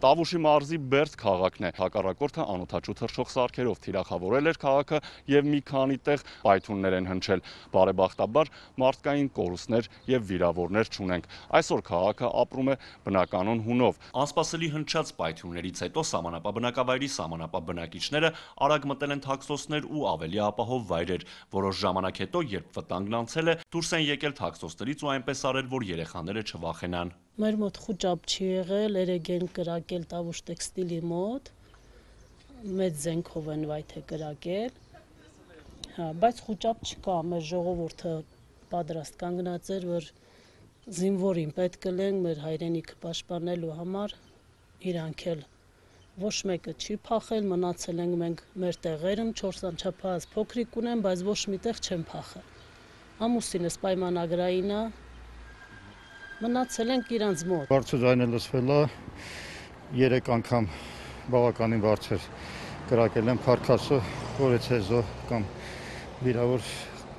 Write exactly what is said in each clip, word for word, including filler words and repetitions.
Տավուշի մարզի Բերդ քաղաքն է, հակառակորդը անօդաչու թռչող սարքերով թիրախավորել էր քաղաքը եւ մի քանի տեղ պայթյուններ են հնչել։ Բարեբախտաբար մարդկային կորուստներ եւ վիրավորներ չունենք։ Այսօր քաղաքը ապրում է բնականon հունով։ Անսպասելի հնչած պայթյուններից հետո սահմանապահ սահմանապահ բնակիչները արագ մտել են թաքստոցներ ու ավելի ապահով վայրեր։ Որոշ ժամանակ հետո, երբ վտանգն անցել է, դուրս են եկել թաքստոցներից ու այնպես արել, որ երեխաները չվախենան։ Մեր մոտ խուճապ չի եղել, երեկ են կրակել Տավուշ տեքստիլի մոտ, մեծ զենքով են վայթե կրակել, հա, բայց խուճապ չկա, մեր ժողովուրդը պատրաստ կանգնած էր, որ զինվորին պետք կլենք մեր հայրենիքը պաշտպանելու համար, իրանք էլ ոչ մեկը չի փախել, մնացել ենք մենք մեր տեղերում, չորս անչափահաս փոքրիկ ունեմ, բայց ոչ միտեղ չեմ փախել։ Ամուսինս պայմանագրային է, մնացել ենք իրանց մոտ։ Բարձր ձայնը լսվել է, երեք անգամ բավականին բարձր կրակել են Փարքասը, Խորեցեզո կամ վիրավոր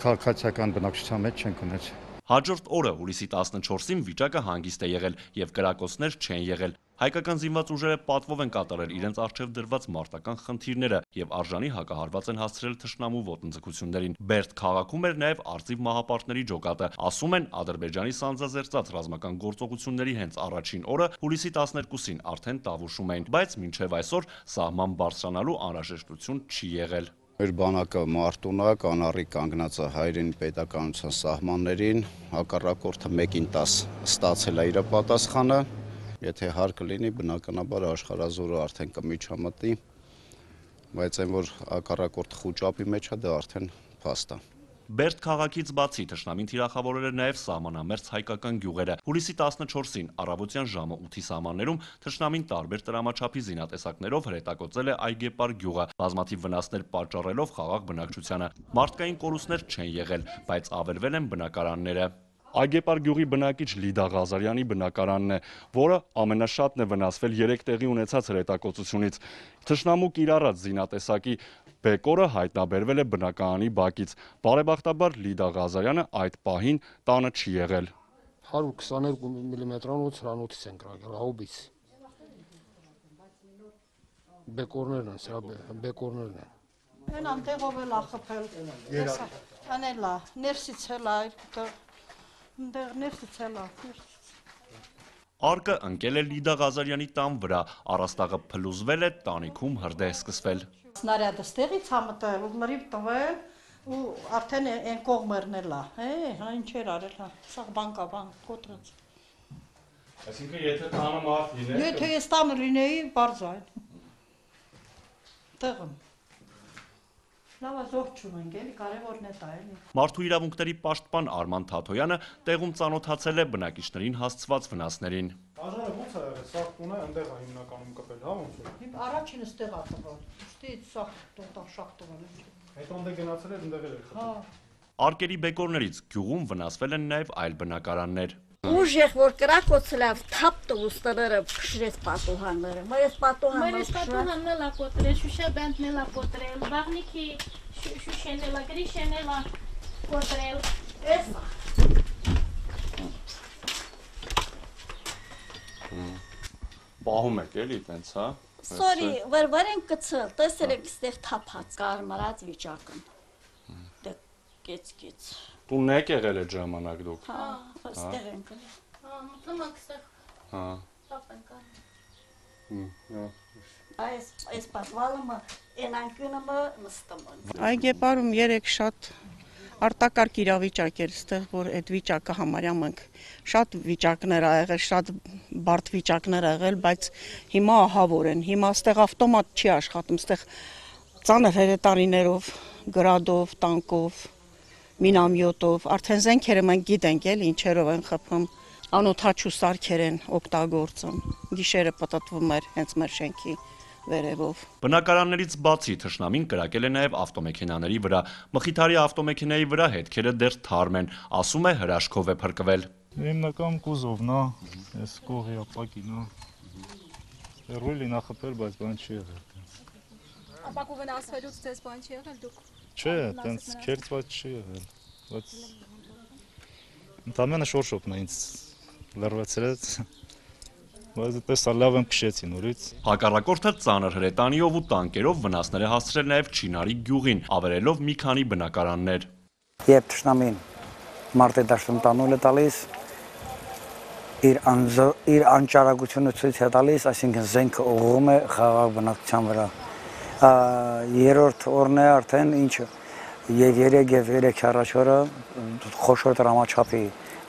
քաղաքացիական բնակչության մեջ չենք ունեցել։ Հաջորդ օրը հուլիսի տասնչորսին վիճակը հանգիստ է եղել եւ կրակոցներ չեն եղել։ Հայկական զինված ուժերը պատվով են կատարել իրենց առջև դրված մարտական խնդիրները եւ արժանի հակահարված են հասցրել թշնամու ոտնձգություններին։ Բերդ քաղաքում էր նաեւ արծիվ մահապարտների ջոկատը։ Ասում են, Ադրբեջանի սանձազերծած ռազմական գործողությունների հենց առաջին օրը հուլիսի տասներկուսին արդեն Տավուշում էին, բայց մինչեւ այսօր սահման բարձրանալու անհրաժեշտություն չի եղել։ Մեր բանակը մարտունա կանառի կանգնած է հայրենի պետականության սահմաններին, հակառակորդը մեկին տաս ստացել է իր պատասխանը, եթե հարկ լինի, բնականաբար աշխարհազորը արդեն կմիջամտի, բայց այն որ հակառակորդը խուճապի մեջ է, դա արդեն փաստ է։ Բերդ քաղաքից բացի թշնամին թիրախավորել էր նաև սահմանամերձ հայկական գյուղերը։ Հուլիսի տասնչորսին առավոտյան ժամը ութի սահմաններում թշնամին տարբեր տրամաչափի զինատեսակներով հրետակոծել է Այգեպար գյուղը, բազմաթիվ վնասներ պատճառելով խաղաղ բնակչությանը։ Մարդկային կորուստներ չեն եղել, բայց ավերվել են բնակարանները։ Այգեպար գյուղի բնակիչ Լիդա Ղազարյանի բնակարանն է, որը ամենաշատն է վնասվել երեք տեղի ունեցած հրետակոծությունից։ Թշնամու կիրառած զինատեսակի բեկորը հայտնաբերվել է բնակարանի բակից։ Բարեբախտաբար Լիդա Ղազարյանը այդ պահին տանը չի եղել։ հարյուր քսաներկու միլիմետրանոց հրանոթից են կրակել, հաուբից։ Բեկորներն են, սրա բեկորներն են։ Են անտեղով էլ ախփել։ Անելա, ներսից էլ այլ Դեր ներսից էլ է։ Արկը ընկել է Լիդա Ղազարյանի տան վրա, առաստաղը փլուզվել է, տանիքում հրդեհ սկսվել։ Սնարյադը ստեղից է մտել, ու մրիվ տվել, ու արդեն այն կողմերն էլ է, հա, ինչեր արել, հա, սաղ բանկա, բան, կոտրած։ Այսինքն եթե տանը մարդ լիներ։ Եթե ես տանը լինեի, բարձ այն։ Տեղում։ Մարդու իրավունքների պաշտպան Արման Թաթոյանը տեղում ծանոթացել է բնակիչներին հասցված վնասներին։ Աժարը ո՞նց է եղել, սաղ տունը այնտեղ է հիմնականում կպել, հա ոնց է։ Առաջինը ստեղ է տվել, ուստից սաղ տոտալ շաղ տվել։ Հետո այնտեղ գնացել էր, այնտեղ էր խփել։ Արկերի բեկորներից գյուղում վնասվել են նաև այլ բնակարաններ։ Ուժեղ որ կրակոցել է, թափ տուստները փշրեց պատուհանները։ Մերես պատուհանները։ Մերես պատուհանն էլ կոտրել, շուշաբանդն էլ կոտրել, բաղնիքի շուշեն էլ, գրիշեն էլ կոտրել։ Էսա։ Պահում եք էլի տենց, հա։ Սորի, որ վեր են կցել, տեսել եք ստեղ թափած կարմրած վիճակն։ Դե կեց-կեց։ Տունն եք եղել այդ ժամանակ դուք։ Հա, ստեղ ենք։ Հա, մտանք ստեղ։ Հա։ Տապ ենք անում։ Այս այս պատվալը այն անկյունը նստում։ Այգեպարում երեք շատ արտակարգ իրավիճակ էր, ստեղ որ այդ վիճակը համարյա մենք շատ վիճակներ ա եղել, շատ բարդ վիճակներ ա եղել, բայց հիմա ահավոր են։ Հիմա ստեղ ավտոմատ չի աշխատում, ստեղ ծանր հրետանիներով, գրադով, տանկով, մինամյոտով, արդեն զենքերը մենք գիտենք էլ ինչերով են խփում, անօդաչու սարքեր են օգտագործում, գիշերը պտտվում էր հենց մեր շենքի վերևով։ Բնակարաններից բացի թշնամին կրակել է նաև ավտոմեքենաների վրա։ Մխիթարի ավտոմեքենայի վրա հետքերը դեռ թարմ են, ասում է հրաշքով է փրկվել։ Հիմնական կուզովն է, այս կողի ապակին է։ Հերույլին է խփել, բայց բան չի եղել։ Ապակու վնասվելուց ձեզ բան չի եղել դուք։ Չէ, տենց քերծված չի եղել, բայց ընդամենը շորշոպն է ինձ լրվեցրեց։ բայց այդպես լավ եմ քշեցի նորից։ Հակառակորդը ծանր հրետանիով ու տանկերով վնասներ է հասցրել նաև Չինարի գյուղին, ավերելով մի քանի բնակարաններ։ Երբ թշնամին մարտի դաշտում տանուլ է տալիս, իր անձ իր անճարակությունը ցույց է տալիս, այսինքն զենքը ուղղում է խաղաղ բնակչության վրա։ Երրորդ օրն է արդեն ինչը եւ երեք եւ երեք առաջ օրը խոշոր դրամաչափի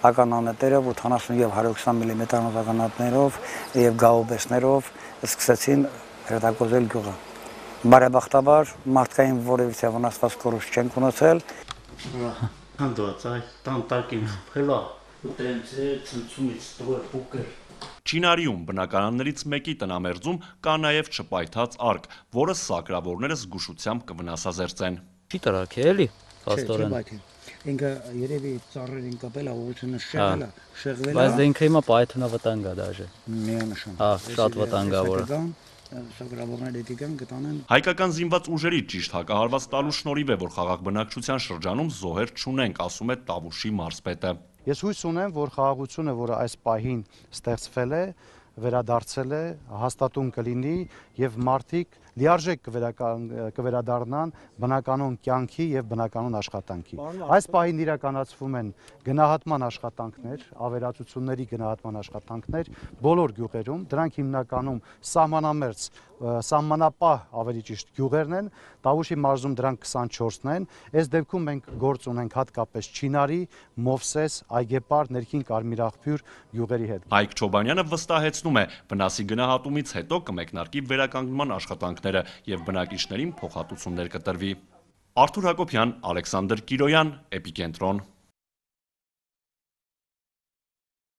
ականանետերով ութանասուն եւ հարյուր քսան միլիմետրանոց ականանետերով եւ գաուբեսներով սկսեցին հրետակոծել գյուղը։ Բարեբախտաբար մարդկային որևիցե վնասված կորուստ չենք ունեցել։ Հանդոց այ տանտակին հելա ուտենցե ցնցումից դուր փուկեր։ Չինարիում բնակարաններից մեկի տնամերձում կա նաև չպայթած արկ, որը սակրավորները զգուշությամբ կվնասազերծեն։ Չի տրակել էլի, փաստորեն։ Ինքը երևի ծառերին կապել է, ուղղությունը շեղել է, շեղվել է։ Բայց դե ինքը հիմա պայթունա վտանգ է դաժե։ Միանշան։ Հա, շատ վտանգավոր է։ Սակրավորները դիտիկան կտանեն։ Հայկական զինված ուժերի ճիշտ հակահարված տալու շնորհիվ է, որ խաղաղ բնակչության շրջանում զոհեր չունենք, ասում է Տավուշի մարզպետը։ Ես հույս ունեմ, որ խաղաղությունը, որը այս պահին ստեղծվել է, վերադարձել է, հաստատուն կլինի եւ մարդիկ լիարժեք կվերադառնան բնականոն կյանքի եւ բնականոն աշխատանքի։ Այս պահին իրականացվում են գնահատման աշխատանքներ, ավերածությունների գնահատման աշխատանքներ բոլոր գյուղերում, դրանք հիմնականում սահմանամերձ, սահմանապահ ավելի ճիշտ գյուղերն են, Տավուշի մարզում դրանք քսանչորսն են։ Այս դեպքում մենք գործ ունենք հատկապես Չինարի, Մովսես, Այգեպար, Ներքին Կարմիրաղբյուր գյուղերի հետ։ Հայկ Չոբանյանը վստահեցնում է, վնասի գնահատումից հետո կմեկնարկի վերականգնման աշխատանքները եւ բնակիչներին փոխհատուցումներ կտրվի։ Արթուր Հակոբյան, Ալեքսանդր Կիրոյան, Էպիկենտրոն։